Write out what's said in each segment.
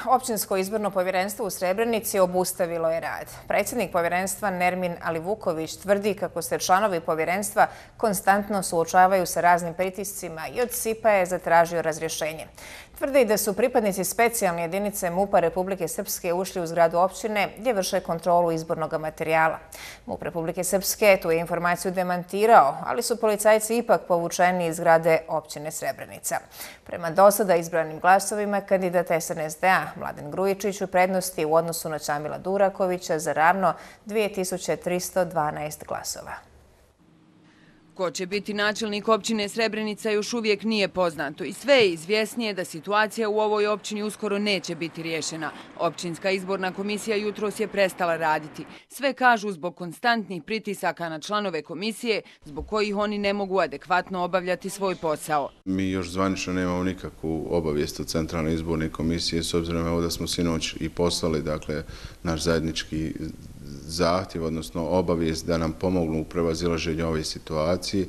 Općinsko izborno povjerenstvo u Srebrenici obustavilo je rad. Predsjednik povjerenstva Nermin Alivuković tvrdi kako se članovi povjerenstva konstantno suočavaju sa raznim pritiscima i od SIP-a je zatražio razrješenje. Tvrdi da su pripadnici specijalne jedinice MUP-a Republike Srpske ušli u zgradu općine gdje vrše kontrolu izbornog materijala. MUP Republike Srpske tu je informaciju demantirao, ali su policajci ipak povučeni iz zgrade općine Srebrenica. Prema dosada izbranim glasovima kandidat SNSD-a Mladen Grujičić u prednosti u odnosu na Čamila Durakovića za ravno 2312 glasova. Ko će biti načelnik općine Srebrenica još uvijek nije poznato i sve je izvjesnije da situacija u ovoj općini uskoro neće biti riješena. Općinska izborna komisija jutros je prestala raditi. Sve kažu zbog konstantnih pritisaka na članove komisije, zbog kojih oni ne mogu adekvatno obavljati svoj posao. Mi još zvanično nemamo nikakvu obavijest od Centralne izborne komisije, s obzirom da smo sinoć i poslali naš zajednički zahtjev, odnosno obavijest da nam pomognu u prevazilaženju ove situacije.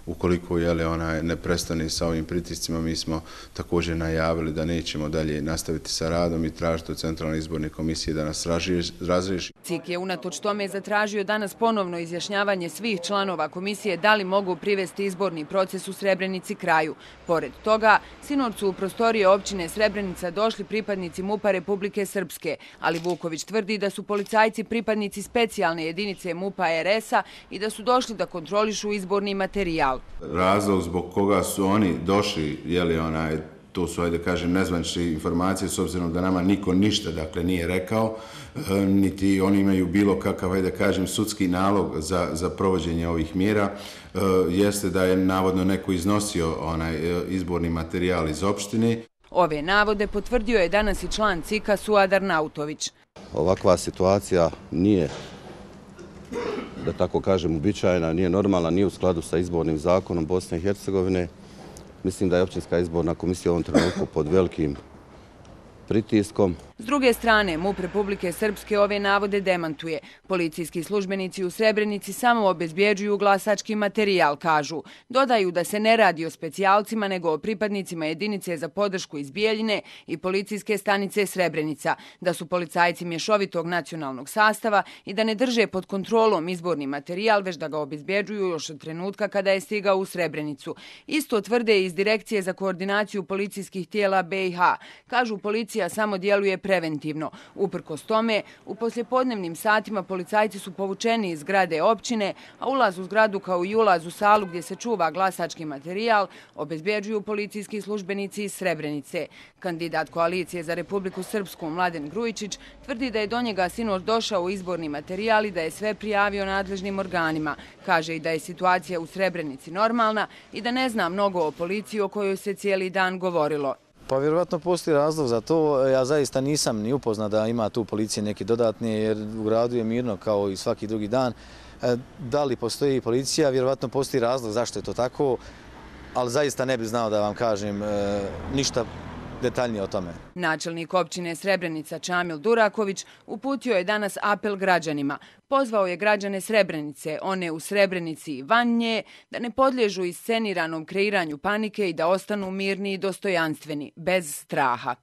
Ukoliko ona ne prestane sa ovim pritiscima, mi smo također najavili da nećemo dalje nastaviti sa radom i tražiti od Centralne izborne komisije da nas razriješi. CIK je unatoč tome zatražio danas ponovno izjašnjavanje svih članova komisije da li mogu privesti izborni proces u Srebrenici kraju. Pored toga, sinoć su u prostorije općine Srebrenica došli pripadnici MUP-a Republike Srpske, ali Vuković tvrdi da su policajci pripadnici specijalne jedinice MUP-a RS-a i da su došli da kontrolišu izborni materijal. Razlog zbog koga su oni došli, to su, nezvanične informacije, s obzirom da nama niko ništa nije rekao, niti oni imaju bilo kakav, sudski nalog za provođenje ovih mjera, jeste da je navodno neko iznosio izborni materijal iz opštine. Ove navode potvrdio je danas i član CIK-a Suadar Nautović. Ovakva situacija nije, da tako kažem, uobičajena, nije normalna, nije u skladu sa izbornim zakonom Bosne i Hercegovine. Mislim da je općinska izborna komisija u ovom trenutku pod velikim pritiskom. S druge strane, MUP Republike Srpske ove navode demantuje. Policijski službenici u Srebrenici samo obezbjeđuju glasački materijal, kažu. Dodaju da se ne radi o specijalcima, nego o pripadnicima jedinice za podršku iz Bijeljine i policijske stanice Srebrenica, da su policajci mješovitog nacionalnog sastava i da ne drže pod kontrolom izborni materijal, već da ga obezbjeđuju još od trenutka kada je stigao u Srebrenicu. Isto tvrde iz Direkcije za koordinaciju policijskih tijela BiH. Kažu, policija samo djeluje preventivno. Uprkos tome, u poslijepodnevnim satima policajci su povučeni iz zgrade općine, a ulaz u zgradu kao i ulaz u salu gdje se čuva glasački materijal obezbjeđuju policijski službenici iz Srebrenice. Kandidat koalicije za Republiku Srpsku Mladen Grujičić tvrdi da je do njega sinoć došao izborni materijal i da je sve prijavio nadležnim organima. Kaže i da je situacija u Srebrenici normalna i da ne zna mnogo o policiji o kojoj se cijeli dan govorilo. Pa vjerovatno postoji razlog za to. Ja zaista nisam ni upoznat da ima tu policije neki dodatni, jer u gradu je mirno kao i svaki drugi dan. Da li postoji policija? Vjerovatno postoji razlog zašto je to tako, ali zaista ne bih znao da vam kažem ništa detaljnije o tome. Načelnik općine Srebrenica Čamil Duraković uputio je danas apel građanima. Pozvao je građane Srebrenice, one u Srebrenici i van nje, da ne podliježu isceniranom kreiranju panike i da ostanu mirni i dostojanstveni, bez straha.